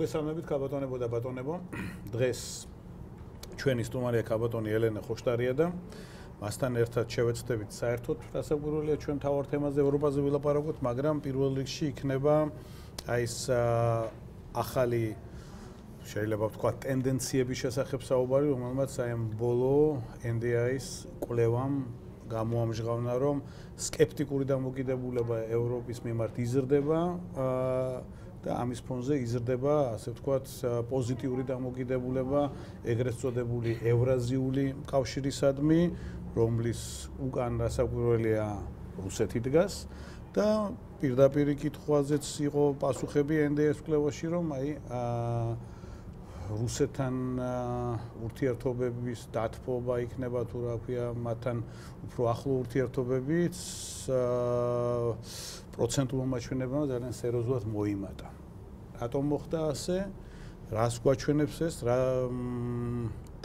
მოგესალმებით ქაბატონებო და ბატონებო. დღეს ჩვენი სტუმარია ქაბატონი ელენე ხოშტარია და მასთან ერთად შევეცდებით საერთოდ დასაკვირველია ჩვენ თავარ თემაზე ევროპაზე ვილაპარაკოთ, მაგრამ პირველ რიგში იქნება ეს ახალი შეიძლება ვთქვათ ტენდენციების შესახებ საუბარი, რომელმაც აი ამ ბოლო NDI-ის კვლევამ გამოამჟღავნა, რომ სკეპტიკური დამოკიდებულება ევროპის მიმართ იზრდება და ამის ფონზე იზრდება, ასე ვთქვათ, პოზიტიური დამოკიდებულება ეგრეთ წოდებული ევრაზიული კავშირისადმი, რომლის უკან დასაკვირველია რუსეთი დგას და პირდაპირ კითხვაზეც იყო პასუხები NDI-ის კვლევაში, რომ აი რუსეთთან ურთიერთობების დათბობა იქნება თუ რა ქვია, მათთან უფრო ახლო ურთიერთობებიც პროცენტულ მაჩვენებამ ძალიან სერიოზულად მოიმატა. რატომ მოხდა ასე? რას გვაჩვენებს ეს? რა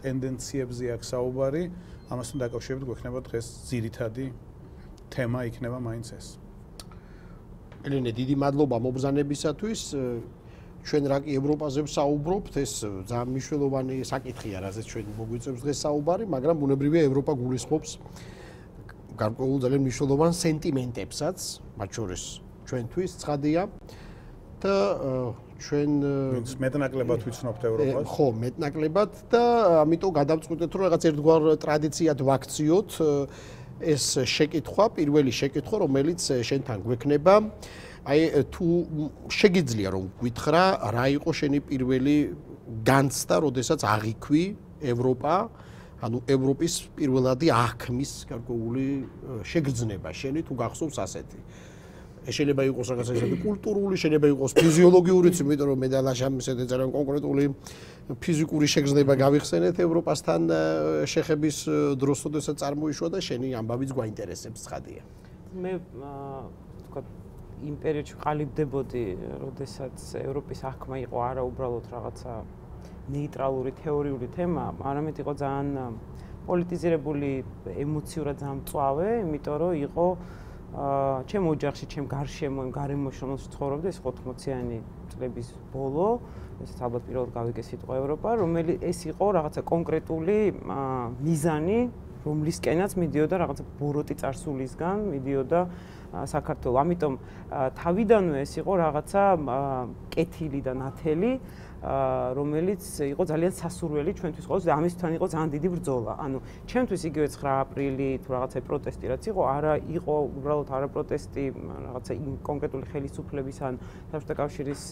ტენდენციებზე აქვს საუბარი? ამასთან დაკავშირებით გვექნება დღეს ძირითადი თემა იქნება მაინც ეს. ელენე, დიდი მადლობა მობრძანებისათვის. ჩვენ რა კი ევროპაზე ვსაუბრობთ, ეს ძალიან მნიშვნელოვანი საკითხია, რაზეც ჩვენ მოგვიწევს დღეს საუბარი, მაგრამ ბუნებრივია ევროპა გულისხმობს გარკვეულ ძალიან მნიშვნელოვან სენტიმენტებსაც, მათ შორის ჩვენთვის ცხადია და ჩვენ მეტნაკლებად ვიცნობთ ევროპას. ხო, მეტნაკლებად და ამიტომ გადავწყვიტეთ, რომ რაღაც ერთგვარ ტრადიციად ვაქციოთ ეს შეკითხვა, პირველი შეკითხვა, რომელიც შენთან გვექნება. აი თუ შეგიძლია რომ გითხრა რა იყო შენი პირველი განცდა, როდესაც აღიქვი ევროპა, ანუ ევროპის პირველადი აღქმის გარკვეული შეგრძნება შენი თუ გახსოვს ასეთი. შეიძლება იყოს რაღაც ესეთი კულტურული, შეიძლება იყოს ფიზიოლოგიურიც, იმიტომ რომ მე და ლაშამ ესეთი ძალიან კონკრეტული ფიზიკური შეგრძნება გავიხსენეთ ევროპასთან შეხების დროს, როდესაც წარმოიშვა და შენი ამბავიც გვაინტერესებს, ცხადია. მე თქვა იმ პერიოდში ყალიბდებოდი, როდესაც ევროპის აღქმა იყო არა უბრალოდ რაღაცა ნეიტრალური თეორიული თემა, არამედ იყო ძალიან პოლიტიზირებული, ემოციურად ძალიან მწვავე, იმიტომ რომ იყო ჩემ ოჯახში, ჩემ გარშემო, იმ გარემოში, რომელშიც ცხოვრობდი, ეს 80-იანი წლების ბოლო, ესეც ალბათ პირველად გავიგე სიტყვა ევროპა, რომელიც ეს იყო რაღაცა კონკრეტული მიზანი, რომლისკენაც მიდიოდა რაღაცა ბოროტი წარსულისგან, მიდიოდა საქართველო. ამიტომ თავიდანვე ეს იყო რაღაცა კეთილი და ნათელი, რომელიც იყო ძალიან სასურველი ჩვენთვის ყოველთვის და ამისთან იყო ძალიან დიდი ბრძოლა. ანუ ჩემთვის იგივე 9 აპრილი თუ რაღაცა პროტესტი რაც იყო, არა იყო უბრალოდ არა პროტესტი რაღაცა იმ კონკრეტული ხელისუფლების ან საბჭოთა კავშირის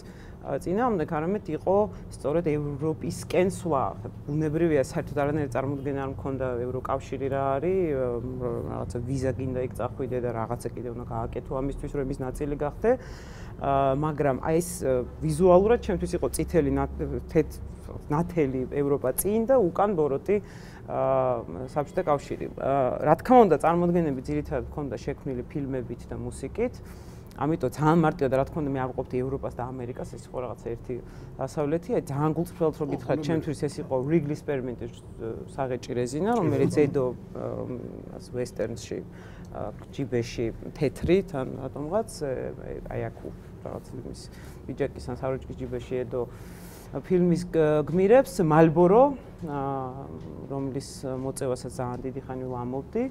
წინააღმდეგ, არამედ იყო სწორედ ევროპისკენ სვლა. ბუნებრივია, საერთოდ არანაირი წარმოდგენა არ მქონდა ევროკავშირი რა არის, რაღაცა ვიზა გინდა იქ წახვიდე და რაღაცა კიდე უნდა გააკეთო ამისთვის, რომ ის ნაწილი გახდე. მაგრამ აი ეს ვიზუალურად ჩემთვის იყო წითელი ნათელი ევროპა წინ და უკან ბოროტი საბჭოთა კავშირი. რა თქმა უნდა, წარმოდგენები ძირითადად მქონდა შექმნილი ფილმებით და მუსიკით. ამიტომ ძალიან მარტივად რა თქმა უნდა მე ავყოფდი ევროპას და ამერიკას, ეს იყო რაღაცა ერთი დასავლეთი. აი ძალიან გულწრფელად რო გითხრათ, ჩემთვის ეს იყო რიგლი სპერიმენტის საღეჭი რეზინა, რომელიც ედო ვესტერნში ჯიბეში თეთრი თან რატომღაც აი აქ რაღაც იმის ბიჯაკის ან საროჭკის ჯიბეში ედო ფილმის გმირებს მალბორო, რომლის მოწევასაც ძალიან დიდი ხანი ვამოვდი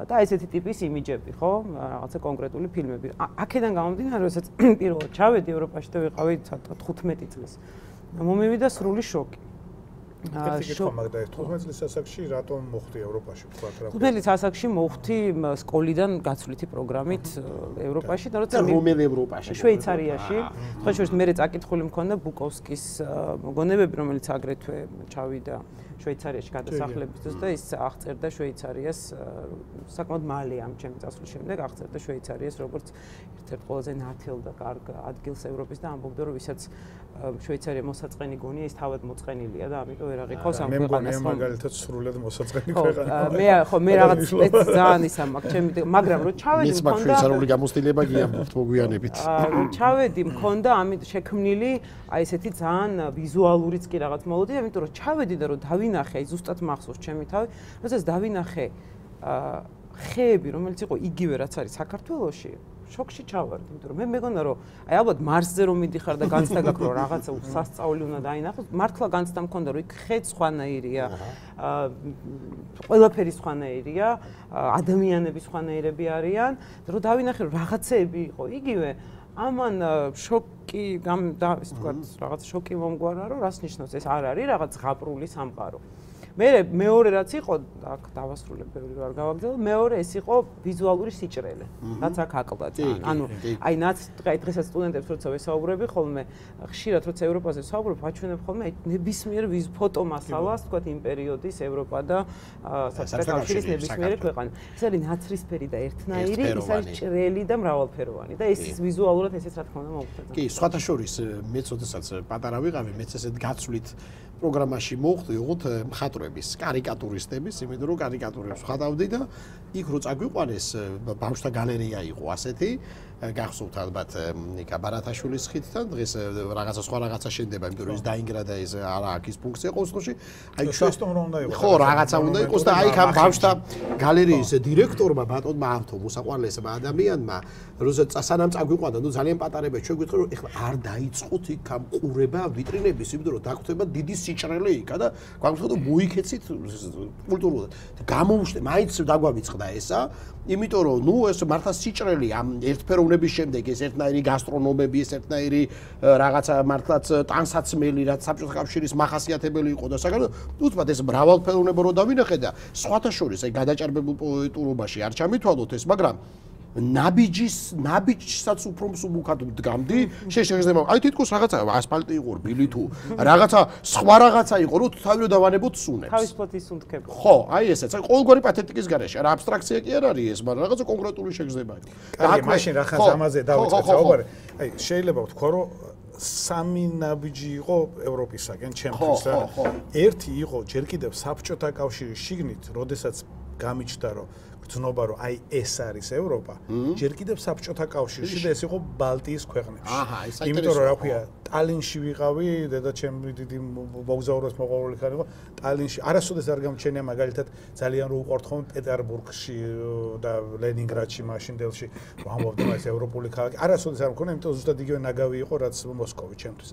და ესეთი ტიპის იმიჯები, ხო, რაღაცა კონკრეტული ფილმები. აქედან გამომდინარე, როდესაც პირველად ჩავედი ევროპაში და ვიყავი 15 წლის. მომივიდა სრული შოკი. მაგდა 15 წლის ასაკში რატომ მოხდი ევროპაში, ვთქვათ რა. 15 წლის ასაკში მოხდი სკოლიდან გაცვლითი პროგრამით ევროპაში და როცა რომელ ევროპაში? შვეიცარიაში. სხვა შორის მე წაკითხული მქონდა ბუკოვსკის მოგონებები, რომელიც აგრეთვე ჩავიდა შვეიცარიაში გადასახლების დროს და ის აღწერდა შვეიცარიას საკმაოდ მალე ამ ჩემი წასვლის შემდეგ აღწერდა შვეიცარიას როგორც ერთ-ერთ ყველაზე ნათელ და კარგ ადგილს ევროპის და ამბობდა რომ ვისაც შვეიცარია მოსაწყენი გონია ის თავად მოწყენილია და ამიტომ ვერ აღიქოს ამ ქვეყანას. მე მაგალითად სრულად მოსაწყენი ქვეყანა. მე რაღაც ძალიან ისა მაქვს ჩემი, მაგრამ რო ჩავედი მის მაგ შვეიცარიული გამოცდილება გიამბობთ მოგვიანებით. ჩავედი მქონდა ამით შექმნილი აი ესეთი ძალიან ვიზუალურიც კი რაღაც მოლოდი, ამიტომ რომ ჩავედი და რომ დავინახე, აი ზუსტად მახსოვს ჩემი თავი, როდესაც დავინახე ხეები, რომელიც იყო იგივე რაც არის საქართველოში, შოკში ჩავარდი, იმიტომ რომ მე მეგონა რომ აი ალბათ მარსზე რომ მიდიხარ და განცდა გაქვს რომ რაღაცა სასწაული უნდა დაინახოს, მართლა განცდა მქონდა რომ იქ ხეც სხვანაირია, ყველაფერი სხვანაირია, ადამიანები სხვანაირები არიან, რომ დავინახე რომ რაღაცეები იყო იგივე, ამან შოკი და ისე თქვა რაღაც შოკი მომგვარა რომ რას ნიშნავს ეს არ არის რაღაც ღაპრული სამყარო. მეორე რაც იყო, აქ დავასრულებ, ბევრი ვარ გავაგრძელო, მეორე ეს იყო ვიზუალური სიჭრელე, რაც აქ აკლდათ. ანუ აი დღესაც სტუდენტებს როცა ვესაუბრები ხოლმე, ხშირად როცა ევროპაზე ვსაუბრობ, ვაჩვენებ ხოლმე ნებისმიერ ფოტო მასალას, თქვათ იმ პერიოდის ევროპა და საბჭოთა კავშირის ნებისმიერი ქვეყანა. ეს არის ნაცრისფერი და ერთნაირი, ის არის ჭრელი და მრავალფეროვანი და ეს ვიზუალურად ესეც რა თქმა უნდა მოგვხვდება. კი, სხვათა შორის მეც როდესაც პატარა ვიყავი, მეც ესეთ გაცვლით პროგრამაში მოვხდი, უღოთ მხატვრების, კარიკატურისტების, იმიტომ რომ კარიკატურებს ვხატავდი და იქ რო წაგვიყვანეს ბავშვთა გალერეა იყო ასეთი, გახსოვთ ალბათ ნიკა ბარათაშვილის ხიდთან, დღეს რაღაცა სხვა რაღაცა შენდება, იმიტომ რომ ის დაინგრა და ეს არა აქ ის ფუნქცია ყოველში. აი შოსტომ რომ უნდა იყოს. ხო, რაღაცა უნდა იყოს და აი ამ ბავშვთა გალერეის დირექტორმა ბატონმა ავთო მოსაყვანლესმა ადამიანმა, როცა სანამ წაგვიყვანდა, ნუ ძალიან პატარებია, ჩვენ გვიტყვი რომ ეხლა არ დაიწყოთ იქ ამ ყურება ვიტრინების, იმიტომ რომ დაგხვდება დიდი სიჭრელე იქა და გვაგვიწყდა რომ მოიქეცით კულტურულად. გამოუშვე, მაინც დაგვავიწყდა ესა, იმიტომ რომ ნუ ეს მართლა სიჭრელი ამ ერთფეროვნების შემდეგ ეს ერთნაირი გასტრონომები, ეს ერთნაირი რაღაცა მართლაც ტანსაცმელი, რაც საბჭოთა კავშირის მახასიათებელი იყო და საგანო უცბად ეს მრავალფეროვნება რო დავინახე და სხვათა შორის აი გადაჭარბებულ პოეტურობაში არ ჩამithვალოთ ეს, მაგრამ ნაბიჯსაც უფრო მსუბუქად დგამდი, შეიძლება აი თითქოს რაღაცა ასფალტი იყო, რბილი თუ რაღაცა სხვა რაღაცა იყო, რომ თავი დავანებოთ სუნებს. თავისუფლად ისუნთქებო. ხო, აი ესეც, აი ყოველგვარი პათეტიკის გარეშე, რა აბსტრაქცია კი არ არის ეს, მაგრამ რაღაცა კონკრეტული შეგრძნება იყო. აი, მაშინ რა ხანს ამაზე დავიწყეთ საუბარი. აი, შეიძლება ვთქვა, რომ სამი ნაბიჯი იყო ევროპისაგან, ჩემთვის რა. ერთი იყო ჯერ კიდევ საბჭოთა კავშირის შიგნით, როდესაც გამიჩნდა, რომ გრძნობა რომ აი ეს არის ევროპა, ჯერ კიდევ საბჭოთა კავშირში და ეს იყო ბალტიის ქვეყნებში. იმიტომ რომ რა ქვია, ტალინში ვიყავი, დედაჩემი დიდი მოგზაურობის მოყვარული ხარ იყო, ტალინში არასოდეს არ გამჩენია მაგალითად ძალიან რო უყვართ ხოლმე პეტერბურგში და ლენინგრადში მაშინდელში, ვამბობდი ეს ევროპული ქალაქი. არასოდეს არ მქონია, იმიტომ ზუსტად იგივე ნაგავი იყო, რაც მოსკოვი ჩემთვის.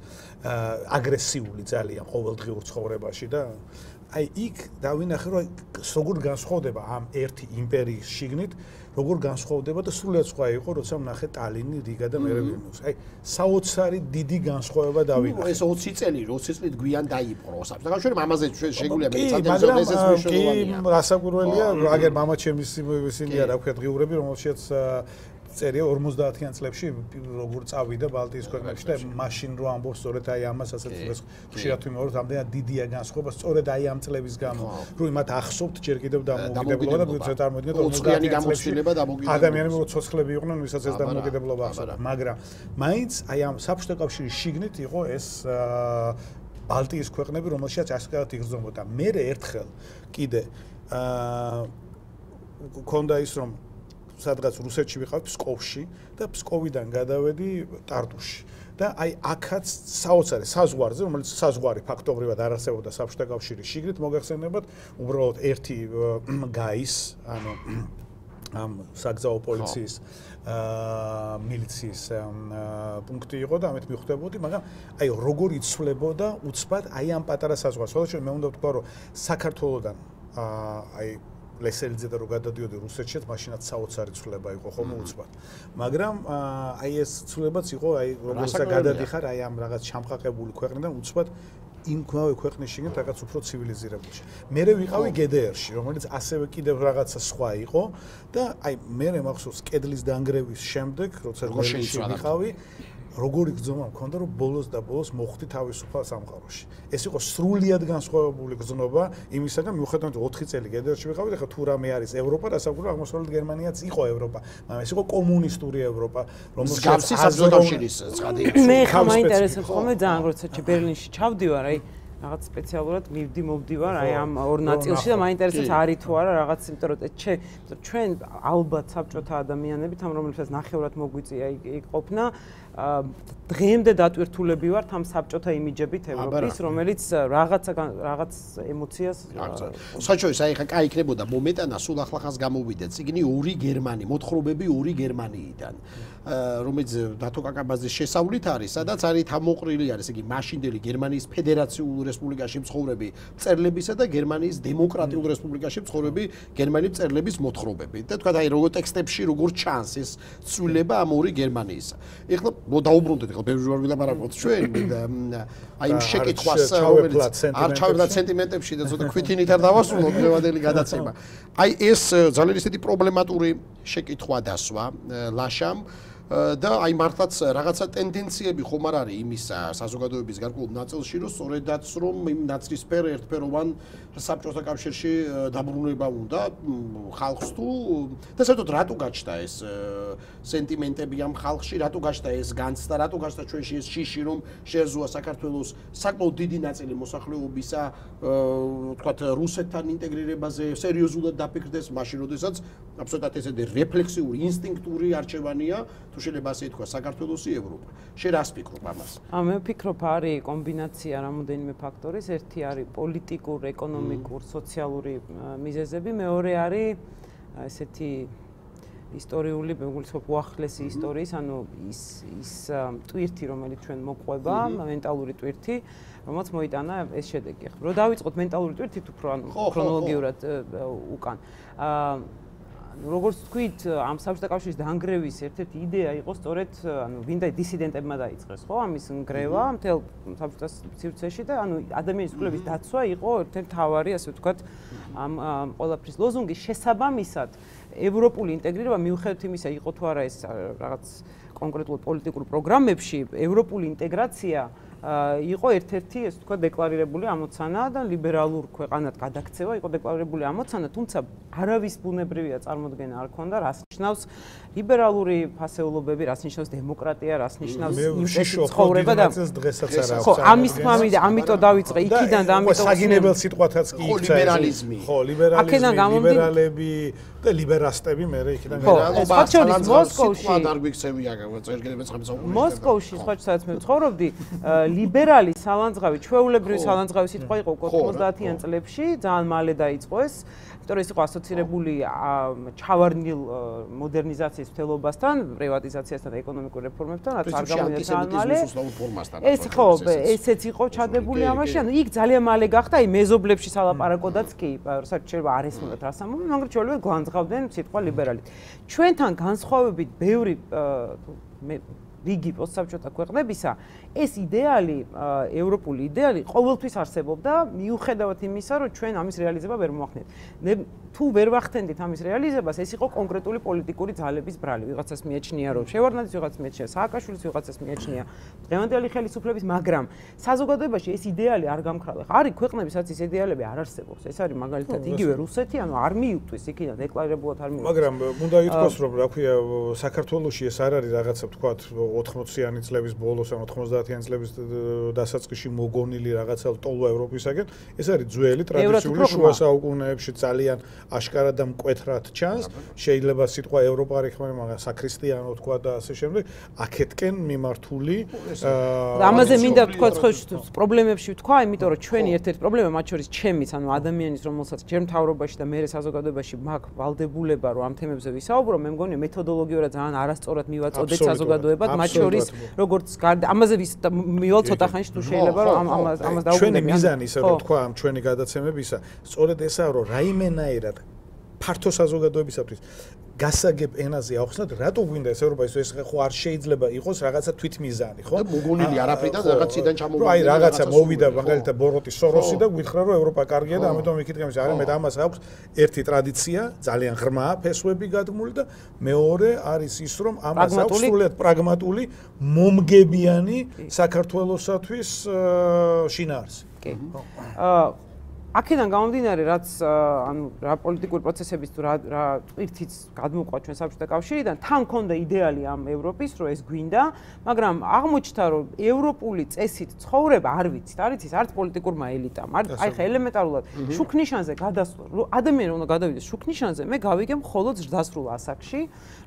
აგრესიული ძალიან ყოველდღიურ ცხოვრებაში და აი იქ დავინახე რომ როგორ განსხვავდება ამ ერთი იმპერიის შიგნით, როგორ განსხვავდება და სრულიად სხვა იყო, როცა ვნახე ტალინი, რიგა და მერე ვილნიუსი. აი საოცარი დიდი განსხვავება დავინახე. ეს 20 წელი, 20 წლით გვიან დაიპყრო საბჭოთა კავშირი, ამაზე შეგვიძლია მეცადებს ესეც მნიშვნელოვანია. კი, რასაკვირველია, აგერ მამა ჩემის ისინია, რა ქვია, დღიურები, რომელშიც წერია 50-იან წლებში როგორ წავიდა ბალტიის ქვეყნებში და მაშინ რო ამბობს სწორედ აი ამას ასეთ დღეს ხშირად ვიმეორებ ამდენად დიდია განსხვავება სწორედ აი ამ წლების გამო რომ იმათ ახსოვთ ჯერ კიდევ დამოუკიდებლობა და ვისაც წარმოვიდგინეთ 50-იანი გამოცდილება დამოუკიდებლობა ადამიანები რო ცოცხლები იყვნენ ვისაც ეს დამოუკიდებლობა ახსოვთ მაგრამ მაინც აი ამ საბჭოთა კავშირის შიგნით იყო ეს ბალტიის ქვეყნები რომელშიც ასკარად იგრძნობოდა მე ერთხელ კიდე ქონდა ის რომ სადღაც რუსეთში ვიყავ ფსკოვში და ფსკოვიდან გადავედი ტარტუში და აი აქაც საოცარი საზღვარზე რომელიც საზღვარი ფაქტობრივად არ არსებობდა საბჭოთა კავშირის შიგნით მოგახსენებათ უბრალოდ ერთი გაის ანუ ამ საგზაო პოლიციის მილიციის პუნქტი იყო და ამით მიხვდებოდი მაგრამ აი როგორ იცვლებოდა უცბად აი ამ პატარა საზღვარს ხოლმე მე უნდა ვთქვა რომ საქართველოსდან აი ლესელიძე და რო გადადიოდი რუსეთშიც, მაშინაც საოცარი ცვლილება იყო ხოლმე უცბად. მაგრამ აი ეს ცვლილებაც იყო, აი როდესაც გადადიხარ აი ამ რაღაც ჩამყაყებული ქვეყნიდან უცბად იმ ქვეყნის შიგნით რაღაც უფრო ცივილიზირებულში. მე ვიყავი GDR-ში, რომელიც ასევე კიდევ რაღაცა სხვა იყო და აი მე მახსოვს კედლის დანგრევის შემდეგ, როცა გოშინში ვიყავი როგორი გრძნობა მქონდა რომ ბოლოს და ბოლოს მოხვდი თავისუფალ სამყაროში. ეს იყო სრულიად განსხვავებული გრძნობა იმისაგან მიუხედავად 4 წელი GDR-ში ვიყავი და ხა თუ რამე არის ევროპა, რასაკვირველია აღმოსავლეთ გერმანიაც იყო ევროპა, მაგრამ ეს იყო კომუნისტური ევროპა, რომელსაც საბჭოთა კავშირის ცხადი იყო. მე ხა მაინტერესებს ხოლმე ძალიან როცა ბერლინში ჩავდივარ, აი რაღაც სპეციალურად მივდივარ აი ამ ორ ნაწილში და მაინტერესებს არის თუ არა რაღაც იმიტომ რომ ჩვენ ალბათ საბჭოთა ადამიანებით ამ რომელსაც ნახევრად მოგვიწია იქ ყოფნა დღემდე დატვირთულები ვართ ამ საბჭოთა იმიჯებით ევროპის, რომელიც რაღაც ემოციას საჩოის აი ხა კაი იქნებოდა მომეტანა სულ ახლახანს გამოვიდა წიგნი ორი გერმანი, მოთხრობები ორი გერმანიიდან, რომელიც დათო კაკაბაძის შესავლით არის, სადაც არის თამოყრილი არის იგი მაშინდელი გერმანიის ფედერაციულ რესპუბლიკაში მცხოვრები მწერლებისა და გერმანიის დემოკრატიულ რესპუბლიკაში მცხოვრები გერმანიის მწერლების მოთხრობები. და თქვა აი როგორ ტექსტებში როგორ ჩანს ეს ცვლილება ამ ორი გერმანიისა. ეხლა დაუბრუნდეთ ხო ბევრი ვარ ვილაპარაკოთ ჩვენ აი იმ შეკითხვას რომელიც არ ჩავებდა სენტიმენტებში და ცოტა ქვითინით არ დავასრულოთ დღევანდელი გადაცემა. აი ეს ძალიან ისეთი პრობლემატური შეკითხვა დასვა ლაშამ და აი მართლაც რაღაცა ტენდენციები ხომ არ არის იმისა საზოგადოების გარკვეულ ნაწილში რომ სწორედაც რომ იმ ნაცრისფერ ერთფეროვან საბჭოთა კავშირში დაბრუნება უნდა ხალხს თუ და საერთოდ რატო გაჩნდა ეს სენტიმენტები ამ ხალხში რატო გაჩნდა ეს განცდა რატო გაჩნდა ჩვენში ეს შიში რომ შეეძლოა საქართველოს საკმაოდ დიდი ნაწილი მოსახლეობისა თქვათ რუსეთთან ინტეგრირებაზე სერიოზულად დაფიქრდეს მაშინ როდესაც აბსოლუტურად ესეთი რეფლექსიური ინსტინქტური არჩევანია თუ შეიძლება ასე ითქვა საქართველოსი ევროპა. შენ რას ფიქრობ ამას? მე ვფიქრობ არის კომბინაცია რამოდენიმე ფაქტორის, ერთი არის პოლიტიკურ, ეკონომიკურ, სოციალური მიზეზები, მეორე არის ესეთი ისტორიული, მეგულისხმობ უახლესი ისტორიის, ანუ ის ტვირთი, რომელიც ჩვენ მოყვება, მენტალური ტვირთი, რომელიც მოიტანა ეს შედეგი. რო დავიწყოთ მენტალური ტვირთით უფრო ანუ ქრონოლოგიურად უკან. როგორც თქვით, ამ საბჭოთა კავშირის დანგრევის ერთ-ერთი იდეა იყო სწორედ, ანუ ვინდა დისიდენტებმა დაიწყეს, ხო, ამის ნგრევა მთელ საბჭოთა სივრცეში და ანუ ადამიანის უფლების დაცვა იყო ერთ-ერთი მთავარი, ასე ვთქვათ, ამ ყველაფრის ლოზუნგის შესაბამისად, ევროპული ინტეგრირება მიუხედავად იმისა, იყო თუ არა ეს რაღაც კონკრეტულ პოლიტიკურ პროგრამებში, ევროპული ინტეგრაცია იყო ერთ-ერთი, ასე ვთქვათ, დეკლარირებული ამოცანა და ლიბერალურ ქვეყანად გადაქცევა იყო დეკლარირებული ამოცანა, თუმცა არავის ბუნებრივია წარმოდგენა არ ქონდა, რას ნიშნავს ლიბერალური ფასეულობები, რას ნიშნავს დემოკრატია, რას ნიშნავს იმპერიის ცხოვრება და დღესაც არ აქვს. ხო, ამის თქმამი და ამიტომ დავიწყე იქიდან და ამიტომ საგინებელ სიტყვათაც კი იქცა. ლიბერალიზმი. ხო, ლიბერალიზმი, ლიბერალები და ლიბერასტები მე იქიდან მოსკოვში სხვა სადაც მე ვცხოვრობდი, ლიბერალი სალანძღავი, ჩვეულებრივი სალანძღავი სიტყვა იყო 90-იან წლებში, ძალიან მალე დაიწყო ეს, იმიტომ რომ ეს იყო ასოცირებული ჩავარდნილ მოდერნიზაციის მთლობასთან, პრივატიზაციასთან და ეკონომიკურ რეფორმებთან, რაც არ გამოვიდა ძალიან მალე. ეს ხო, ესეც იყო ჩადებული ამაში, ანუ იქ ძალიან მალე გახდა, აი მეზობლებში სალაპარაკოდაც კი, საერთოდ არ ესმოდათ რას ამბობენ, მაგრამ ჩვეულებრივად განსხვავდნენ სიტყვა ლიბერალი. ჩვენთან განსხვავებით ბევრი რიგი პოსტსაბჭოთა ქვეყნებისა ეს იდეალი, ევროპული იდეალი ყოველთვის არსებობდა, მიუხედავად იმისა, რომ ჩვენ ამის რეალიზება ვერ მოახდენთ. თუ ვერ ვახდენდით ამის რეალიზებას, ეს იყო კონკრეტული პოლიტიკური ძალების ბრალი. ვიღაცას მიეჩნია, რომ შევარდნაძის, ვიღაცას მიეჩნია სააკაშვილის, ვიღაცას მიეჩნია დღევანდელი ხელისუფლების, მაგრამ საზოგადოებაში ეს იდეალი არ გამქრალა. არის ქვეყნები, სადაც ეს იდეალები არ არსებობს. ეს არის მაგალითად იგივე რუსეთი, ანუ არ მიუტყვის იქიდან დეკლარირებულად არ მიუტყვის. მაგრამ უნდა ითქვას, რომ რა ქვია, საქართველოში ეს არ არის რაღაცა თქვა 80-იანი წლების ბოლოს, ან 90-იანი წლების დასაწყისში მოგონილი რაღაცა ტოლვა ევროპისაგან. ეს არის ძველი ტრადიციული შუა საუკუნეებში ძალიან აშკარად და მკვეთრად ჩანს. შეიძლება სიტყვა ევროპა არ იხმარება, მაგრამ საქრისტიანო თქვა და ასე შემდეგ. აქეთკენ მიმართული ამაზე მინდა ვთქვა პრობლემებში ვთქვა, იმიტომ რომ ჩვენი ერთ-ერთი პრობლემა მათ შორის ჩემის, ანუ ადამიანის, რომელსაც ჯერ მთავრობაში და მერე საზოგადოებაში მაქვს ვალდებულება, რომ ამ თემებზე ვისაუბრო, მე მგონია მეთოდოლოგიურად ძალიან არასწორად მივაწოდეთ საზოგადოებად, მათ შორის როგორც ამაზე მივალ ცოტა ხანში თუ შეიძლება რომ ამას დაუბრუნდები. ჩვენი მიზანი ისე რომ თქვა ამ ჩვენი გადაცემებისა, სწორედ ესაა რომ რაიმენაირად ფართო საზოგადოებისათვის გასაგებ ენაზე ახსნათ, რატო გვინდა ეს ევროპა, ეს ხო არ შეიძლება იყოს რაღაცა თვითმიზანი, ხო? და მოგონილი არაფრიდან რაღაციდან ჩამოვიდა. აი რაღაცა მოვიდა მაგალითად ბოროტი სოროსი და გვითხრა რომ ევროპა კარგია და ამიტომ ვიკითხე, არა მე ამას აქვს ერთი ტრადიცია, ძალიან ღრმა ფესვები გადმული და მეორე არის ის რომ ამას აქვს სრულიად პრაგმატული, მომგებიანი საქართველოსათვის შინაარსი. კი. აქედან გამომდინარე, რაც ანუ რა პოლიტიკური პროცესების თუ რა ტვირთიც გადმოყვა ჩვენ საბჭოთა კავშირიდან, თან მქონდა იდეალი ამ ევროპის, რომ ეს გვინდა, მაგრამ აღმოჩნდა, რომ ევროპული წესით ცხოვრება არ ვიცით, არ იცის არც პოლიტიკურმა ელიტამ, აი ხა ელემენტარულად შუქნიშანზე გადასვლა, ადამიანი უნდა გადავიდეს შუქნიშანზე, მე გავიგე მხოლოდ ზრდასრულ ასაკში,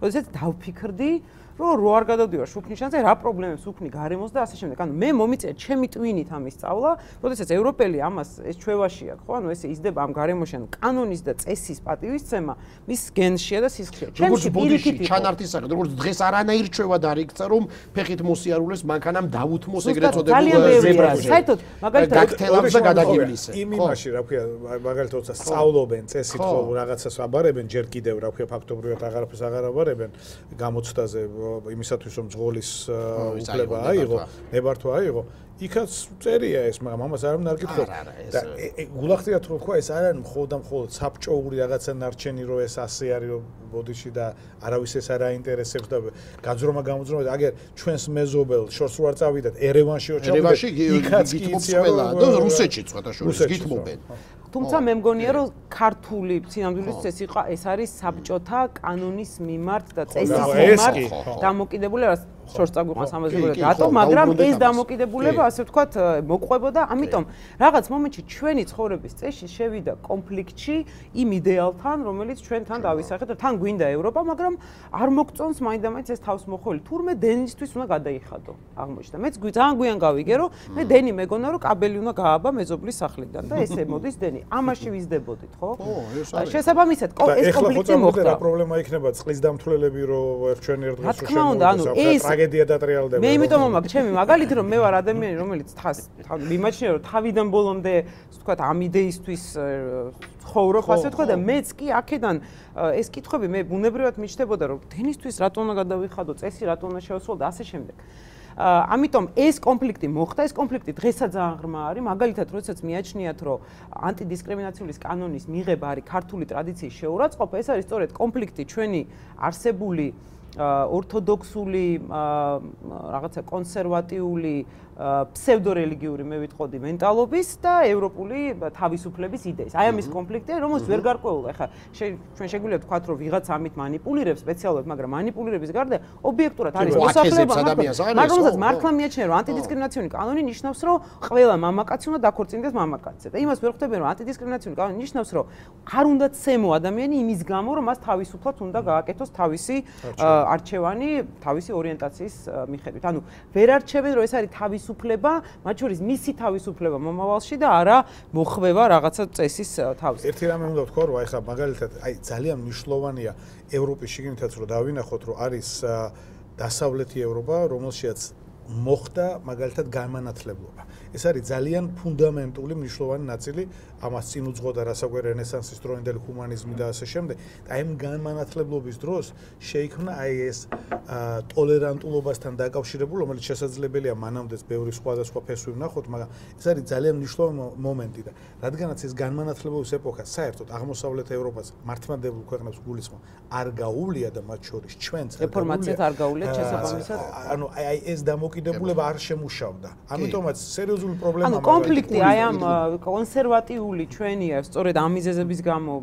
როდესაც დავფიქრდი რო არ გადავდივარ შუქნიშანზე, რა პრობლემებს უქმნი გარემოს და ასე შემდეგ. ანუ მე მომიწია ჩემი ტვინით ამის სწავლა, როდესაც ევროპელი ამას ეს ჩვევაში აქვს, ხო? ანუ ესე იზრდება ამ გარემოში, ანუ კანონის და წესის პატივისცემა მის გენშია და სისხლშია. ჩემში პირიქით ჩანართის სახით, როგორც დღეს არანაირ ჩვევად არ იქცა, რომ ფეხით მოსიარულეს მანქანამ დაუთმოს ეგრეთ წოდებულ ზებრაზე. საერთოდ მაგალითად გაქთელავს და გადაგივლისე. იმ იმაში, რა ქვია, მაგალითად, როცა სწავლობენ, წესით ხო რაღაცას აბარებენ, ჯერ კიდევ რა ქვია, ფაქტობრივად აღარაფერს აღარ აბარებენ გამოცდაზე იმისათვის რომ ძღოლის უფლება აიღო, ნებართვა აიღო, იქაც წერია ეს, მაგრამ ამას არ უნდა არკითხო. და გულახდიათ რომ თქვა ეს არ არის მხოლოდ საბჭოური რაღაცა ნარჩენი რომ ეს ასე არის რომ ბოდიში და არავის ეს არ აინტერესებს და გაძრომა გამოძრომა აგერ ჩვენს მეზობელ შორს რო არ წავიდათ ერევანში რო ჩავიდეთ იქაც გითხოვს ყველა და რუსეთშიც სხვათა შორის გითხოვენ. თუმცა მე მგონია რომ ქართული სინამდვილეში ეს არის საბჭოთა კანონის მიმართ და წესის მიმართ დამოკიდებულება შორს წაგვიყვანს ამაზე რატო, მაგრამ ეს დამოკიდებულება ასე ვთქვათ მოყვებოდა, ამიტომ რაღაც მომენტში ჩვენი ცხოვრების წესი შევიდა კონფლიქტში იმ იდეალთან, რომელიც ჩვენთან დავისახეთ და თან გვინდა ევროპა, მაგრამ არ მოგწონს მაინდამაინც ეს თავისმოხველი. თურმე დენისთვის უნდა გადაიხადო. აღმოჩნდა. მეც ძალიან გვიან გავიგე, რომ მე დენი მეგონა, რომ კაბელი უნდა გააბა მეზობლის სახლიდან და ესე მოდის დენი. ამაში ვიზდებოდით, ხო? შესაბამისად, ეს კონფლიქტი მოხდა. რა პრობლემა იქნება წყლის დამთვლელები, რომ ჩვენ ერთ დღეს რა თქმა უნდა, ანუ ეს ტრაგედია დატრიალდება. მე იმიტომ მომაქვს ჩემი მაგალითი, რომ მე ვარ ადამიანი, რომელიც მიმაჩნია, რომ თავიდან ბოლომდე, ვთქვათ, ამ იდეისთვის ცხოვრობ, ასე ვთქვათ და მეც კი აქედან ეს კითხვები მე ბუნებრივად მიჩნდებოდა, რომ დენისთვის რატო უნდა გადავიხადო, წესი რატო უნდა შევასრულო და ასე შემდეგ. ამიტომ ეს კონფლიქტი მოხდა, ეს კონფლიქტი დღესაც ძალიან ღრმა არის, მაგალითად, როდესაც მიაჩნიათ, რომ ანტიდისკრიმინაციული კანონის მიღება არის ქართული ტრადიციის შეურაცხყოფა, ეს არის სწორედ კონფლიქტი ჩვენი არსებული ორთოდოქსული რაღაცა კონსერვატიული ფსევდორელიგიური მე ვიტყოდი მენტალობის და ევროპული თავისუფლების იდეის. აი ამის კონფლიქტია, რომელიც ვერ გარკვეულა. ეხლა ჩვენ შეგვიძლია ვთქვათ, რომ ვიღაც ამით манипуლირებს სპეციალურად, მაგრამ манипуლირების გარდა ობიექტურად არის მოსახლეობა, მაგრამ მართლა მიაჩნია, რომ ანტიდისკრიმინაციული კანონი ნიშნავს, რომ ყველა მამაკაცი უნდა დაქორწინდეს მამაკაცზე. და იმას ვერ ხვდები, რომ ანტიდისკრიმინაციული კანონი ნიშნავს, რომ არ უნდა ცემო ადამიანი იმის გამო, რომ მას თავისუფლად უნდა გააკეთოს თავისი არჩევანი, თავისი ორიენტაციის მიხედვით. ანუ ვერ არჩევენ, რომ ეს არის თავისუფლება, მათ შორის მისი თავისუფლება მომავალში და არა მოხვევა რაღაცა წესის თავის. ერთი რამე უნდა ვთქვა, რომ ეხლა მაგალითად, ძალიან მნიშვნელოვანია ევროპის შიგნითაც რომ დავინახოთ, რომ არის დასავლეთი ევროპა, რომელშიც მოხდა მაგალითად განმანათლებლობა. ეს არის ძალიან ფუნდამენტური მნიშვნელოვანი ნაწილი, ამას წინ უძღოდა რასაკვირ რენესანსის დროინდელი ჰუმანიზმი და ასე შემდეგ. და ამ განმანათლებლობის დროს შეიქმნა აი ეს ტოლერანტულობასთან დაკავშირებული, რომელიც შესაძლებელია მანამდეც ბევრი სხვადასხვა ფესვი ვნახოთ, მაგრამ ეს არის ძალიან მნიშვნელოვანი მომენტი და რადგანაც ეს განმანათლებლობის ეპოქა საერთოდ აღმოსავლეთ ევროპას მართლმადიდებლურ ქვეყნებს გულისხმობს, არ გაუვლია და მათ შორის ჩვენც რეფორმაციაც არ გაუვლიათ შესაბამისად. ანუ აი ეს დამოკიდებულება არ შემუშავდა. ამიტომაც სერიოზული პრობლემაა. ანუ კონფლიქტი აი ამ კონსერვატიული ჩვენი სწორედ ამ მიზეზების გამო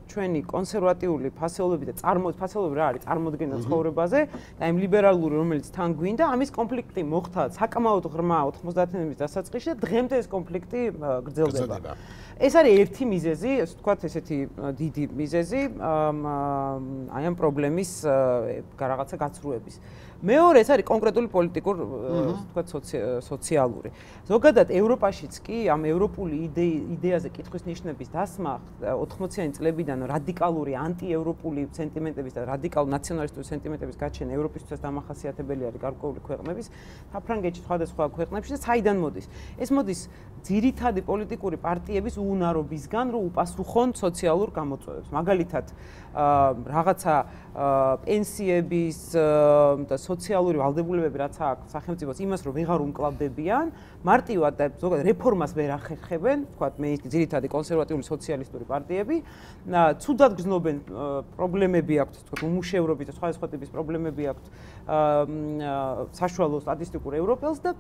ჩვენი კონსერვატიული ფასეულობები და ფასეულობები რა არის წარმოდგენა ცხოვრებაზე და იმ ლიბერალური რომელიც თან გვინდა ამის კონფლიქტი მოხდა საკმაოდ ღრმა 90-იანების დასაწყისში და დღემდე ეს კონფლიქტი გრძელდება. ეს არის ერთი მიზეზი, ასე ვთქვათ, ესეთი დიდი მიზეზი აი ამ პრობლემის რაღაცა გაცრუების. მეორე ეს არის კონკრეტული პოლიტიკურ, ვთქვათ, სოციალური. ზოგადად ევროპაშიც კი ამ ევროპული იდეაზე კითხვის ნიშნების დასმა 80-იანი წლებიდან რადიკალური ანტიევროპული სენტიმენტების და რადიკალურ ნაციონალისტური სენტიმენტების გაჩენა ევროპისთვის დამახასიათებელი არის გარკვეული ქვეყნების, საფრანგეთში, სხვადასხვა ქვეყნებში და საიდან მოდის? ეს მოდის ძირითადი პოლიტიკური პარტიების უუნარობისგან, რომ უპასუხონ სოციალურ გამოწვევებს. მაგალითად, რაღაცა პენსიების და სოციალური ვალდებულებები რაც აქვს სახელმწიფოს იმას რომ ვეღარ უმკლავდებიან, მარტივად და ზოგადად რეფორმას ვერ ახერხებენ, თქვათ მე ძირითადი კონსერვატიული სოციალისტური პარტიები, ცუდად გრძნობენ პრობლემები აქვთ, თქვათ უმუშევრობის და სხვადასხვა ტიპის პრობლემები აქვთ საშუალო სტატისტიკურ ევროპელს და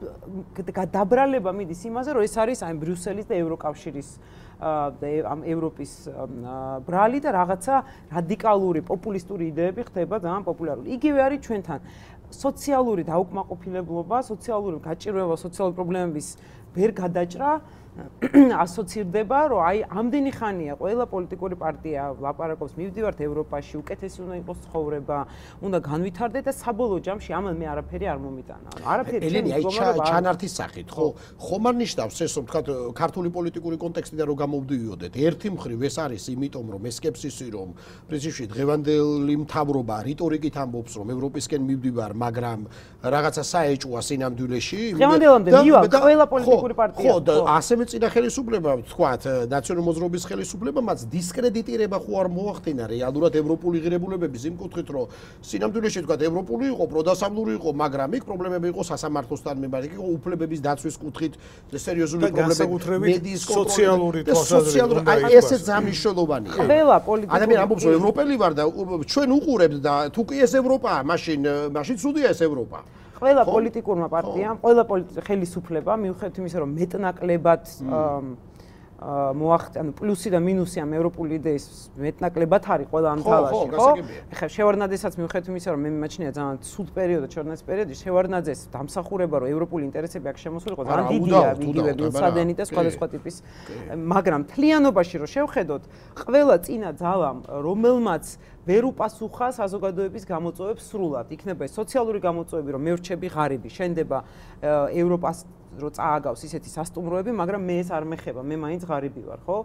დაბრალება მიდის იმაზე, რომ ეს არის აი ბრიუსელის და ევროკავშირის ამ ევროპის ბრალი და რაღაცა რადიკალური პოპულისტური იდეები ხდება ძალიან პოპულარული. იგივე არის ჩვენთან. სოციალური დაუკმაყოფილებლობა, სოციალური გაჭირვება, სოციალური პრობლემების ვერ გადაჭრა ასოცირდება, რომ აი ამდენი ხანია ყველა პოლიტიკური პარტია ლაპარაკობს, მივდივართ ევროპაში, უკეთესი უნდა იყოს ცხოვრება, უნდა განვითარდეთ და საბოლოო ჯამში ამან მე არაფერი არ მომიტანა. არაფერი ელენი, აი ჩანართის სახით, ხო? ხომ არ ნიშნავს ეს, რომ თქვა ქართული პოლიტიკური კონტექსტიდან რომ გამოვდივიოდეთ. ერთი მხრივ ეს არის იმიტომ, რომ ეს სკეპსისი, რომ პრინციპში დღევანდელი მთავრობა რიტორიკით ამბობს, რომ ევროპისკენ მივდივარ, მაგრამ რაღაცა საეჭვია სინამდვილეში. დღევანდელამდე მივალ ყველა პოლიტიკური პარტია. ხო, და ასევე წინა ხელისუფლება, თქვათ, ნაციონალური მოძრაობის ხელისუფლებამაც დისკრედიტირება ხო არ მოახდინა რეალურად ევროპული ღირებულებების იმ კუთხით, რომ სინამდვილეში თქვათ, ევროპული იყო, პროდასავლური იყო, მაგრამ იქ პრობლემები იყო სასამართლოსთან მიმართ, იყო უფლებების დაცვის კუთხით სერიოზული პრობლემები, მედიის სოციალური თვალსაზრისით. აი ესე ძამნიშნულოვანია. ყველა პოლიტიკური ადამიანი ამბობს, რომ ევროპელი ვარ და ჩვენ უყურებთ და თუ კი ეს ევროპაა, მაშინ ცუდია ეს ევროპა. ყველა პოლიტიკურმა პარტიამ, ყველა ხელისუფლებამ მიუხედავად იმისა, რომ მეტნაკლებად ანუ პლუსი და მინუსი ამ ევროპული იდეის მეტნაკლებად არის ყველა ამ თალაში, ხო? ეხლა შევარდნაძესაც მიუხედავად იმისა, რომ მე მიმაჩნია ძალიან ცუდ პერიოდი, შევარდნაძის პერიოდი, შევარდნაძეს დამსახურება, რომ ევროპული ინტერესები აქ შემოსულიყო, ძალიან დიდია, იგივე ბილსადენი და სხვადასხვა ტიპის, მაგრამ თლიანობაში რომ შევხედოთ, ყველა წინა ძალამ, რომელმაც ვერ უპასუხა საზოგადოების გამოწვევებს სრულად, იქნება ეს სოციალური გამოწვევები, რომ მე ვრჩები ღარიბი, შენდება ევროპას რო წააგავს ისეთი სასტუმროები, მაგრამ მე ეს არ მეხება, მე მაინც ღარიბი ვარ, ხო?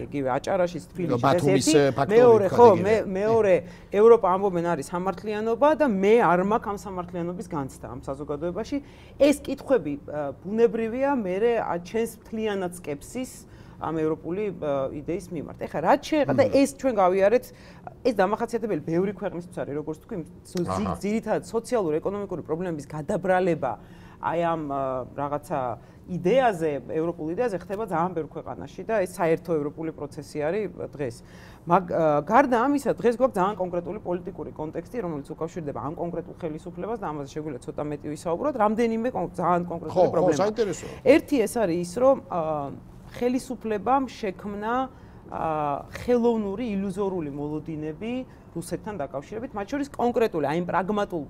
იგივე აჭარაშიც, თბილისში ეს ერთი, მეორე, ხო, მეორე ევროპა ამბობენ არის სამართლიანობა და მე არ მაქვს ამ სამართლიანობის განცდა ამ საზოგადოებაში. ეს კითხვები ბუნებრივია, მე ჩვენს მთლიანად სკეპსის ამ ევროპული იდეის მიმართ. ეხლა რაც შეეხება და ეს ჩვენ გავიარეთ, ეს დამახასიათებელი ბევრი ქვეყნისთვის არის, როგორც თქვი, ძირითადად სოციალურ-ეკონომიკური პრობლემების გადაბრალება აი ამ რაღაცა იდეაზე, ევროპულ იდეაზე ხდება ძალიან ბევრ ქვეყანაში და ეს საერთო ევროპული პროცესი არის დღეს. გარდა ამისა, დღეს გვაქვს ძალიან კონკრეტული პოლიტიკური კონტექსტი, რომელიც უკავშირდება ამ კონკრეტულ ხელისუფლებას და ამაზე შეგვიძლია ცოტა მეტი ვისაუბროთ, რამდენიმე ძალიან კონკრეტული პრობლემა. ხო, საინტერესოა. ერთი ეს არის ის, რომ ხელისუფლებამ შექმნა ხელოვნური ილუზორული მოლოდინები რუსეთთან დაკავშირებით, მათ შორის კონკრეტული, აი იმ პრაგმატულ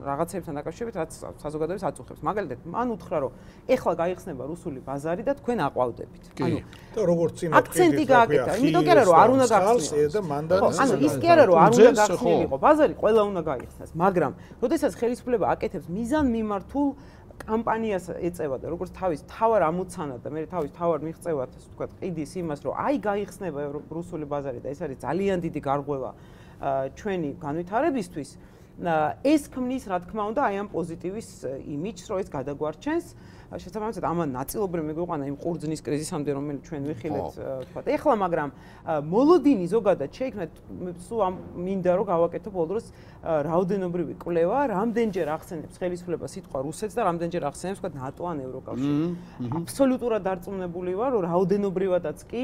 რაღაცებთან დაკავშირებით, რაც საზოგადოებას აწუხებს. მაგალითად, მან უთხრა, რომ ეხლა გაიხსნება რუსული ბაზარი და თქვენ აყვავდებით. ანუ და როგორც წინა აქცენტი გააკეთა, იმიტომ კი არა, რომ არ უნდა გახსნას. ანუ ის კი არა, რომ არ უნდა გახსნილიყო ბაზარი, ყველა უნდა გაიხსნას, მაგრამ როდესაც ხელისუფლება აკეთებს მიზანმიმართულ კამპანიას ეწევა და როგორც თავის თავარ ამოცანად და მე თავის თავარ მიღწევათ, ასე ვთქვათ, ყიდის იმას, რომ აი გაიხსნება რუსული ბაზარი და ეს არის ძალიან დიდი გარღვევა ჩვენი განვითარებისთვის. ეს ქმნის, რა თქმა უნდა, აი ამ პოზიტივის იმიჯს, რომ ეს გადაგვარჩენს. შესაბამისად, ამან ნაწილობრივ მიგვიყვანა იმ ყურძნის კრიზისამდე, რომელიც ჩვენ ვიხილეთ, ვთქვათ, ეხლა, მაგრამ მოლოდინი ზოგადად შეიქმნა, სულ ამ მინდა რომ გავაკეთო ბოლო დროს რაოდენობრივი კვლევა, რამდენჯერ ახსენებს ხელისუფლება სიტყვა რუსეთს და რამდენჯერ ახსენებს, ვთქვათ, ნატო ან ევროკავშირი. აბსოლუტურად დარწმუნებული ვარ, რომ რაოდენობრივადაც კი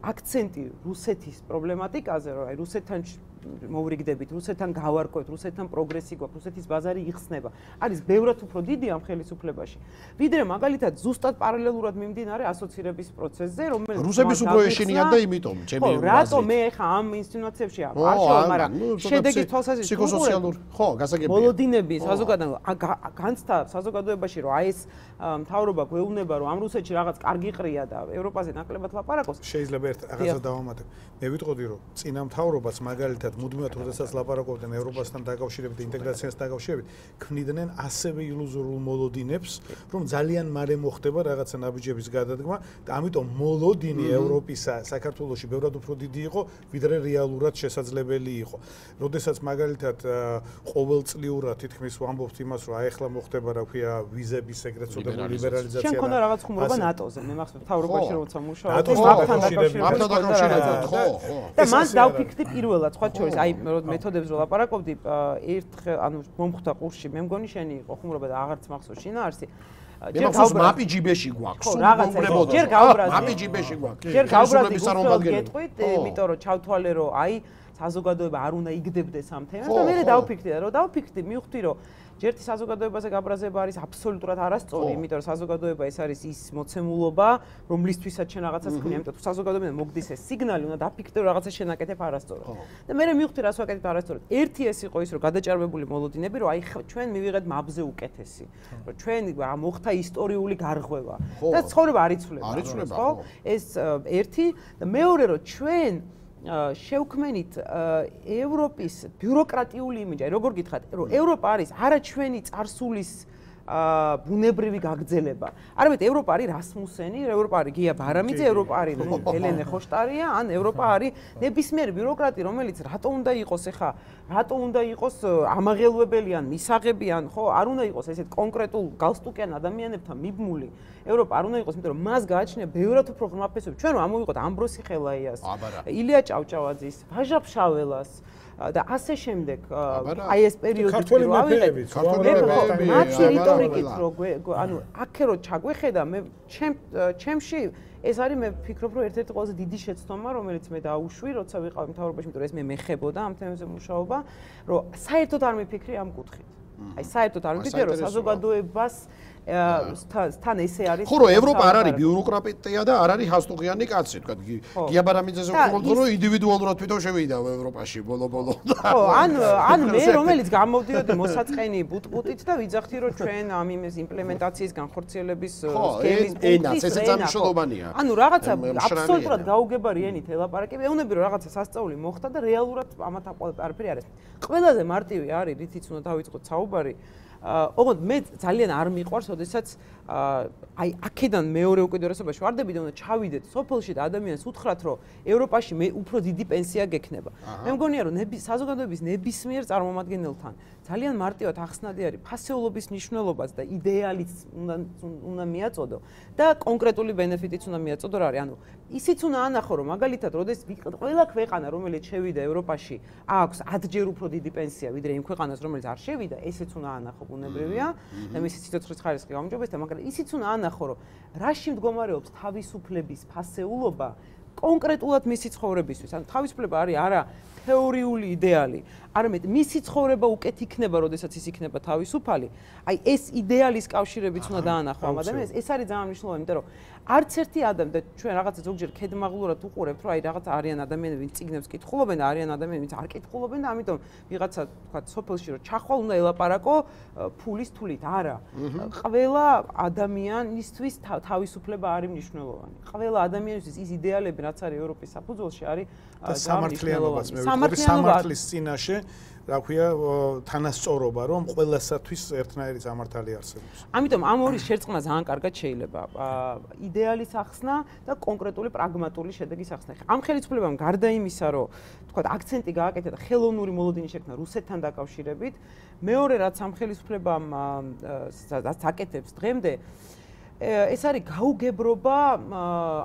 აქცენტი რუსეთის პრობლემატიკაზე, რომ აი რუსეთთან მოვრიგდებით, რუსეთთან გავარკვევთ, რუსეთთან პროგრესი გვაქვს, რუსეთის ბაზარი იხსნება. არის ბევრად უფრო დიდი ამ ხელისუფლებაში. ვიდრე მაგალითად ზუსტად პარალელურად მიმდინარე ასოცირების პროცესზე, რომელიც რუსების უფრო ეშინიათ და იმიტომ, ჩემი აზრით. რატო მე ხა ამ ინსტინუაციებში არ შევ, მაგრამ შედეგის თვალსაზრისით ფსიქოსოციალური, ხო, გასაგებია. მოლოდინები განცდა საზოგადოებაში, რომ აი ეს მთავრობა გვეუბნება, რომ ამ რუსეთში რაღაც კარგი ყრია და ევროპაზე ნაკლებად ლაპარაკობს. შეიძლება ერთ რაღაცა დავამატებ. მე ვიტყოდი, რომ წინა მთავრობას მაგალითად მუდმივად როდესაც ლაპარაკობდნენ ევროპასთან დაკავშირებით, ინტეგრაციასთან დაკავშირებით, ქმნიდნენ ასევე ილუზორულ მოლოდინებს, რომ ძალიან მალე მოხდება რაღაცა ნაბიჯების გადადგმა და ამიტომ მოლოდინი ევროპისა საქართველოში ბევრად უფრო დიდი იყო, ვიდრე რეალურად შესაძლებელი იყო. როდესაც მაგალითად ყოველწლიურად თითქმის ვამბობთ იმას, რომ აი ახლა მოხდება, რა ქვია, ვიზების ეგრეთ წოდებული ლიბერალიზაცია. შენ ქონდა რაღაც ხუმრობა ნატოზე, მე მახსოვს მთავრობაში როცა მუშაობდი, მათთან დაკავშირებით, ხო. და მან დავფიქრდი პირველად, სხვა შორის, აი მეთოდებს რო ლაპარაკობდი, ერთხელ ანუ მომხვდა ყურში, მე მგონი შენი იყო ხუმრობა და აღარც მახსოვს შინაარსი. ჯერ მაპი ჯიბეში გვაქვს. ხო, რაღაცა ჯერ გავბრაზდი. მაპი ჯიბეში გვაქვს. ჯერ გავბრაზდი გეტყვით, იმიტომ რომ ჩავთვალე რომ აი საზოგადოება არ უნდა იგდებდეს ამ თემას და მე დავფიქრდი და რომ დავფიქრდი, მივხვდი რომ ჯერთი საზოგადოებაზე გაბრაზება არის აბსოლუტურად არასწორი, იმიტომ რომ საზოგადოება ეს არის ის მოცემულობა, რომლისთვისაც შენ რაღაცას ქმნი, ამიტომ თუ საზოგადოებიდან მოგდის ეს სიგნალი, უნდა დაფიქრდე რომ რაღაცა შენ აკეთებ არასწორად. და მე მივხვდი რას ვაკეთებ არასწორად. ერთი ეს იყო ის, რომ გადაჭარბებული მოლოდინები, რომ აი ჩვენ მივიღეთ მაბზე უკეთესი, რომ ჩვენ მოხდა ისტორიული გარღვევა და ცხოვრება არ იცვლება, ხო? ეს ერთი და მეორე რომ ჩვენ შევქმენით ევროპის ბიუროკრატიული იმიჯი, როგორ გითხრათ, რომ ევროპა არის არა ჩვენი წარსულის ბუნებრივი გაგრძელება. არამედ ევროპა არის რასმუსენი, ევროპა არის გია ბარამიძე, ევროპა არის ელენე ხოშტარია, ან ევროპა არის ნებისმიერი ბიუროკრატი, რომელიც რატო უნდა იყოს ახლა, რატო უნდა იყოს ამაღელვებელი ან მისაღები ან ხო, არ უნდა იყოს ესეთ კონკრეტულ გალსტუკიან ადამიანებთან მიბმული. ევროპა არ უნდა იყოს, იმიტომ რომ მას გააჩნია ბევრად უფრო ღრმა ფესვები. ჩვენ რომ ამოვიყოთ ამბროსი ხელაიას, ილია ჭავჭავაძის, ვაჟა ფშაველას და ასე შემდეგ აი ეს პერიოდი ქართველი მეფეებიც მათი რიტორიკით რო ანუ აქე რო ჩაგვეხედა მე ჩემში ეს არის მე ვფიქრობ რომ ერთ-ერთი ყველაზე დიდი შეცდომა რომელიც მე დაუშვი როცა ვიყავი მთავრობაში იმიტომ რომ ეს მე მეხებოდა ამ თემებზე მუშაობა რომ საერთოდ არ მიფიქრი ამ კუთხით აი საერთოდ არ მიფიქრი რომ საზოგადოებას თან ესე არის ხო რომ ევროპა არ არის ბიუროკრატია და არ არის ჰასტუღიანი კაცი თქვა გია ბარამიძეზე ვქონდო რომ ინდივიდუალურად თვითონ შევიდა ევროპაში ბოლო-ბოლო ხო ან მე რომელიც გამოვდიოდი მოსაწყენი ბუტ-ბუტით და ვიძახთი რომ ჩვენ ამ იმის იმპლემენტაციის განხორციელების სქემის ენაც ესე ძამშლობანია ანუ რაღაცა აბსოლუტურად გაუგებარი ენით ელაპარაკები ეუნები რომ რაღაცა სასწაული მოხდა და რეალურად ამათ არაფერი არის ყველაზე მარტივი არის რითიც უნდა დავიწყოთ საუბარი ოღონდ მე ძალიან არ მიყვარს, ოდესაც აი აქედან მეორე უკიდურესობაში ვარდები და უნდა ჩავიდეთ სოფელში და ადამიანს უთხრათ, რომ ევროპაში მე უფრო დიდი პენსია გექნება. მე მგონია, რომ საზოგადოების ნებისმიერ წარმომადგენელთან ძალიან მარტივად ახსნადი არის ფასეულობის მნიშვნელობაც და იდეალიც უნდა მიაწოდო და კონკრეტული ბენეფიტიც უნდა მიაწოდო რა არის. ანუ ისიც უნდა ანახო, რომ მაგალითად, როდესაც ყველა ქვეყანა, რომელიც შევიდა ევროპაში, აქვს 10-ჯერ უფრო დიდი პენსია, ვიდრე იმ ქვეყანას, რომელიც არ შევიდა, ესეც უნდა ანახო. ბუნებრივია და მისი სიცოცხლის ხარისხი გაუმჯობესდა, მაგრამ ისიც უნდა ანახო, რომ რაში მდგომარეობს თავისუფლების ფასეულობა კონკრეტულად მისი ცხოვრებისთვის. ანუ თავისუფლება არის არა თეორიული იდეალი, არამედ მისი ცხოვრება უკეთ იქნება, როდესაც ის იქნება თავისუფალი. აი ეს იდეალის კავშირებიც უნდა დაანახო ამ ადამიანს. ეს არის ძალიან მნიშვნელოვანი, იმიტომ რომ არც ერთი ადამიანი და ჩვენ რაღაცა ზოგჯერ ქედმაღლურად უყურებთ, რომ აი რაღაც არიან ადამიანები, ვინც წიგნებს კითხულობენ და არიან ადამიანები, ვინც არ კითხულობენ და ამიტომ ვიღაცა თქვა სოფელში რომ ჩახვალ უნდა ელაპარაკო ფულის თულით. არა. ყველა ადამიანისთვის თავისუფლება არის მნიშვნელოვანი. ყველა ადამიანისთვის ის იდეალები, რაც არის ევროპის საფუძველში, არის სამართლიანობაც მე ვიტყოდი სამართლის წინაშე რა ქვია თანასწორობა რომ ყველასათვის ერთნაირი სამართალი არსებობს. ამიტომ ამ ორი შერწყმა ძალიან კარგად შეიძლება იდეალის ახსნა და კონკრეტული პრაგმატული შედეგის ახსნა. ამ ხელისუფლებამ გარდა იმისა, რომ თქვა აქცენტი გააკეთა და ხელოვნური მოლოდინი შექმნა რუსეთთან დაკავშირებით, მეორე რაც ამ ხელისუფლებამ აკეთებს დღემდე ეს არის გაუგებრობა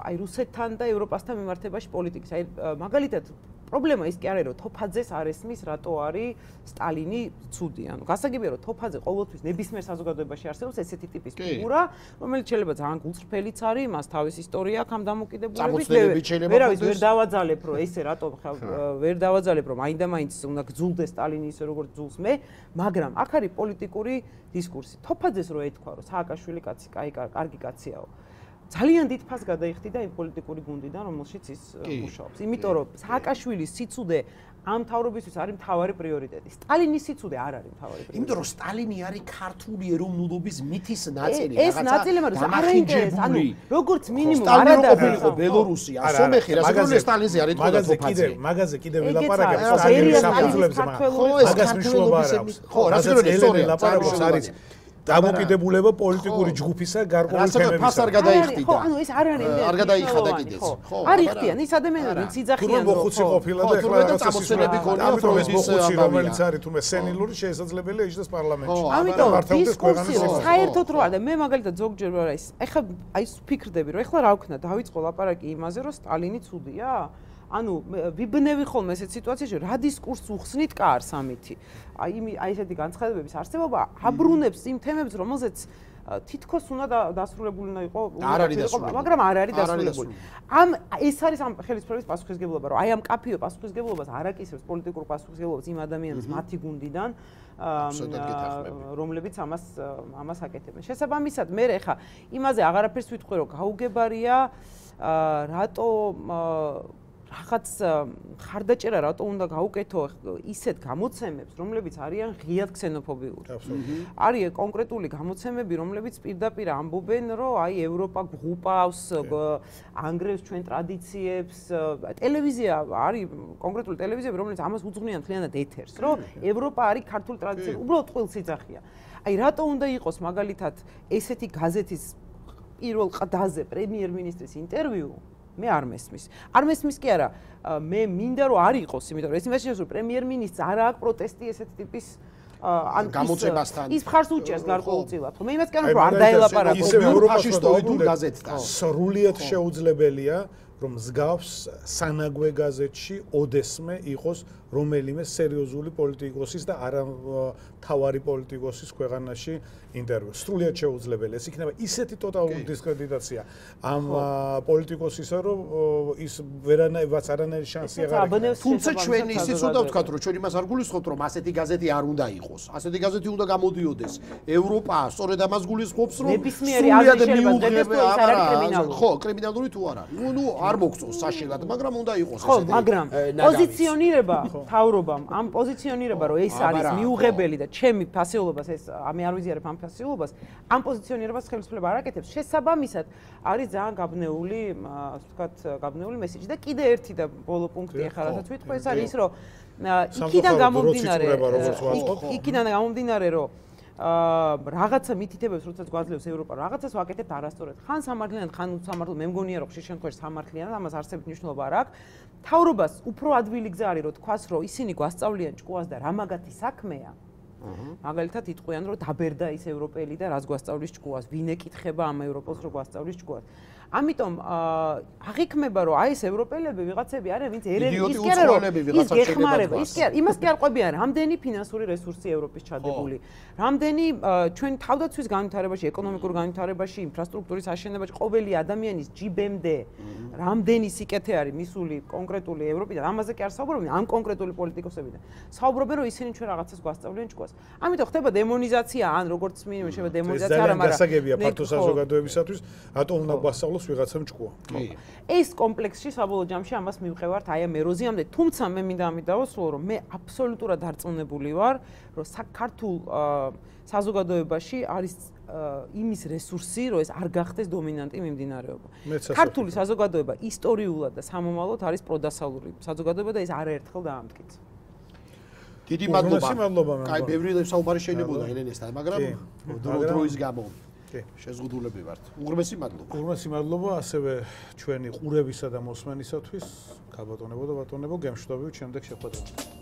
აი რუსეთთან და ევროპასთან მიმართებაში პოლიტიკის. აი მაგალითად პრობლემა ის კი არის რომ თოფაძეს არ ესმის რატო არის სტალინი ცუდი. ანუ გასაგებია რომ თოფაძე ყოველთვის ნებისმიერ საზოგადოებაში არსებობს ესეთი ტიპის ფიგურა, რომელიც შეიძლება ძალიან გულწრფელიც არის, მას თავის ისტორია აქვს ამ დამოკიდებულებით. ვერავის ვერ დავაძალებ რომ ესე რატო ვერ დავაძალებ რომ მაინდა-მაინც უნდა გძულდეს სტალინი ისე როგორც ძულს მე, მაგრამ აქ არის პოლიტიკური დისკურსი. თოფაძეს რო ეთქვა რომ სააკაშვილი კაცი კარგი კაციაო. ძალიან დიდ ფასს გადაიხდიდა იმ პოლიტიკური გუნდიდან, რომელშიც ის მუშაობს. იმიტომ რომ სააკაშვილის სიცუდე ამ თავრობისთვის არის მთავარი პრიორიტეტი. სტალინის სიცუდე არ არის მთავარი პრიორიტეტი. იმიტომ რომ სტალინი არის ქართული ეროვნულობის მითის ნაწილი, ეს ნაწილი მაგრამ არ ინტერესს, ანუ როგორც მინიმუმ არადაყოფილიყო ბელორუსია, სომეხი, რასაკურველი სტალინზე არის თქო თოფაძე. მაგაზე კიდევ ვილაპარაკებ სტალინის საფუძვლებზე, მაგას მნიშვნელობა არ აქვს. ხო, რასაკურველი სწორი ლაპარაკობს არის დამოკიდებულება პოლიტიკური ჯგუფისა გარკვეული თემებისა. ფას არ გადაიხდიდა. ხო, ანუ ეს არ არის არ გადაიხადა კიდეც. ხო. არ იხდიან ის ადამიანები, ვინც იძახიან რომ ხუცი ყოფილა და ეხლა წამოსვენები ქონია ფროიდის რომელიც არის თუმე სენილური შესაძლებელია იჯდეს პარლამენტში. ამიტომ დისკუსია საერთოდ რო არა და მე მაგალითად ზოგჯერ რა ის ეხლა აი ფიქრდები რომ ეხლა რა ვქნა დავიწყო ლაპარაკი იმაზე რომ სტალინი ცუდია? ანუ ვიბნევი ხოლმე ესეთ სიტუაციაში რა დისკურსს უხსნით კარს ამითი. აი ესეთი განცხადებების არსებობა აბრუნებს იმ თემებს, რომელზეც თითქოს უნდა დასრულებული უნდა იყო, მაგრამ არ არის დასრულებული. ეს არის ამ ხელისუფლების პასუხისგებლობა, რომ აი ამ კაფიო პასუხისგებლობას არ აკისრებს პოლიტიკურ პასუხისგებლობას იმ ადამიანის მათი გუნდიდან, რომლებიც ამას აკეთებენ. შესაბამისად, მე ხა იმაზე აღარაფერს ვიტყვი, რომ გაუგებარია რატო რაღაც ხარდაჭერა რატო უნდა გაუკეთო ისეთ გამოცემებს, რომლებიც არიან ღიად ქსენოფობიური. არის კონკრეტული გამოცემები, რომლებიც პირდაპირ ამბობენ, რომ აი ევროპა ღუპავს, ანგრევს ჩვენ ტრადიციებს. ტელევიზია არის კონკრეტული ტელევიზიები, რომლებიც ამას უძღვნიან მთლიანად ეთერს, რომ ევროპა არის ქართული ტრადიცია, უბრალოდ წყვილსიძახია. აი რატო უნდა იყოს მაგალითად ესეთი გაზეთის პირველ ყდაზე პრემიერ-მინისტრის ინტერვიუ? მე არ მესმის. არ მესმის კი არა, მე მინდა რომ არ იყოს, იმიტომ რომ ეს იმაშია რომ პრემიერ-მინისტრს არ აქვს პროტესტი ესეთ ტიპის გამოწებასთან. ის მხარს უჭერს გარკვეულწილად. მე იმას კი არ ვთქვი, არ დაელაპარაკო ფაშისტოიდულ გაზეთთან. სრულიად შეუძლებელია რომ მსგავს სანაგვე გაზეთში ოდესმე იყოს რომელიმე სერიოზული პოლიტიკოსის და არა თავარი პოლიტიკოსის ქვეყანაში ინტერვიუ. სრულიად შეუძლებელია. ეს იქნება ისეთი ტოტალური დისკრედიტაცია ამ პოლიტიკოსისა, რომ ის ვერანაირად არანაირი შანსი აღარ აქვს. თუმცა ჩვენ ისიც უნდა ვთქვათ, რომ ჩვენ იმას არ გულისხმობთ, რომ ასეთი გაზეთი არ უნდა იყოს. ასეთი გაზეთი უნდა გამოდიოდეს. ევროპა სწორედ ამას გულისხმობს, რომ სრულიად მიუღებელია. ხო, კრიმინალური თუ არა. ნუ არ მოგწონს საშინლად, მაგრამ უნდა იყოს ხო, მაგრამ პოზიციონირება თავრობამ, ამ პოზიციონირება, რომ ეს არის მიუღებელი და ჩემი ფასეულობას ეს მე არ ვიზიარებ ამ ფასეულობას, ამ პოზიციონირებას ხელისუფლება არ აკეთებს. შესაბამისად, არის ძალიან გაბნეული, ასე ვთქვათ, გაბნეული მესიჯი და კიდე ერთი და ბოლო პუნქტი ახლა რასაც ვიტყვი, ეს არის ის, რომ იქიდან გამომდინარე, რომ რაღაცა მითითებებს როდესაც გვაძლევს ევროპა, რაღაცას ვაკეთებთ არასწორად. ხან სამართლიანად, ხან უსამართლო, მე მგონია რომ ხშირ შემთხვევაში სამართლიანად, ამას არსებით მნიშვნელობა არ აქვს. თავრობას უფრო ადვილი გზა არის, რომ თქვას, რომ ისინი გვასწავლიან ჭკუას და რა მაგათი საქმეა. მაგალითად იტყვიან, რომ დაბერდა ის ევროპელი და რას გვასწავლის ჭკუას, ვინ ეკითხება ამ ევროპელს, რომ გვასწავლის ჭკუას. ამიტომ აღიქმება, რომ აი ეს ევროპელები ვიღაცები არიან, ვინც ის კი არა, რომ ის გეხმარება, ის კი არა, იმას კი არ ყვებიან, რამდენი ფინანსური რესურსი ევროპის ჩადებული, რამდენი ჩვენ თავდაცვის განვითარებაში, ეკონომიკურ განვითარებაში, ინფრასტრუქტურის აშენებაში ყოველი ადამიანის ჯიბემდე რამდენი სიკეთე არის მისული კონკრეტული ევროპიდან, ამაზე კი არ საუბრობენ, ამ კონკრეტული პოლიტიკოსებიდან. საუბრობენ, რომ ისინი ჩვენ რაღაცას გვასწავლიან ჭკუას. ამიტომ ხდება დემონიზაცია, ან როგორც მინიმუმ შეიძლება დემონიზაცია, არა, მაგრამ გასაგებია ფართო საზოგადოებისათვის, რატომ უნდა გვასწავლოს ვიღაცამ ჭკუა. ეს კომპლექსში საბოლოო ჯამში ამას მივყევართ აი ამ ეროზიამდე, თუმცა მე მინდა ამით დავასრულო, რომ მე აბსოლუტურად დარწმუნებული ვარ, რომ საქართველოს საზოგადოებაში არის იმის რესურსი, რომ ეს არ გახდეს დომინანტი მიმდინარეობა. ქართული საზოგადოება ისტორიულად და სამომავლოდ არის პროდასალური საზოგადოება და ეს არაერთხელ დაამტკიცა. დიდი მადლობა. კაი, ბევრი საუბარი შეიძლება ელენესთან, მაგრამ დროის გამო შეზღუდულები ვართ. უღრმესი მადლობა. უღრმესი მადლობა ასევე ჩვენი ყურებისა და მოსმენისათვის. ქაბატონებო და ბატონებო, გემშვიდობებით შემდეგ შეხვედრამდე.